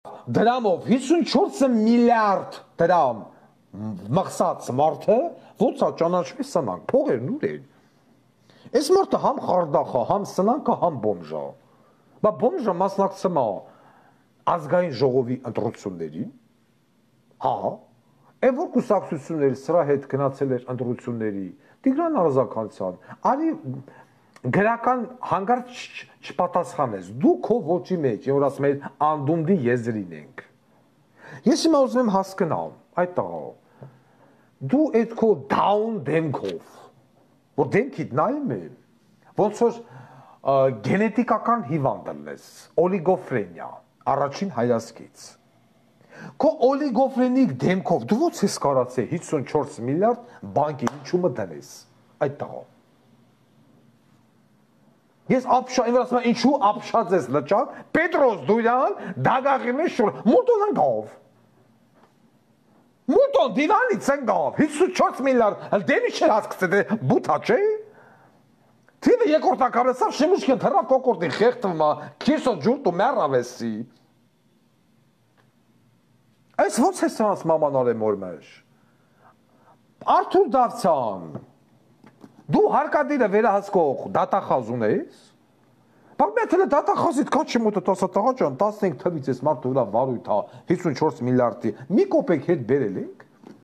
դրամով 54 միլիարդ դրամ մղսած մարդը ոնց է ճանաչվի սնանք, փողերն ուր են։ Այս մարդը համ խարդախ է, համ սնանք է, համ բոմժ է։ Բա բոմժը մասնակցում է ազգային ժողովի ընտրություններին, հա, այն որ կուսակցությունների սրա հետ գնացել էր ընտրությունների, Տիգրան Արզականցյան, արի գրական հանգարց չպատասխանես, դու քո ոճի մեջ, որ ասում ես անդունդի եզրին ենք։ Ես հիմա ուզում եմ հասկանամ, այդ տղա, դու այդ քո down դեմքով, որ դեմքիդ նայում եմ, ոնց որ գենետիկական հիվանդ ես, օլիգոֆրենիա, առաջին հայացքից։ Քո օլիգոֆրենիկ դեմքով դու ոնց ես կարացել 54 միլիարդ բանկի ինչու դնես, այդ տղա։ Ես ասում եմ ինչու ապշած ես լճակ, Պետրոս Դուրյան, դագաղի մեջ շուր, մուտոն ընկավ։ Մուտոն դիվանից ընկավ, 54 միլիարդ, դեմի չէր հասկացել, բութա չէ։ Թիվը երկրորդակարեսավ շիմուշկեն թռավ կոկորդի խեղտվում է, քիսո ջուրտ ու մեռավեսի։ Այս ոնց է սրանց մաման արեմ որ մեջ։ Արթուր Դավթյան, դու հարկադիրը վերահսկող դատախազ ունես։ Բայց մեթել է դատախազիդ կաչի մոտը տասա տղա ջան, 15 թվից ես մարդու վրա վարույթ հա 54 միլիարդի մի կոպեկ հետ բերել ենք։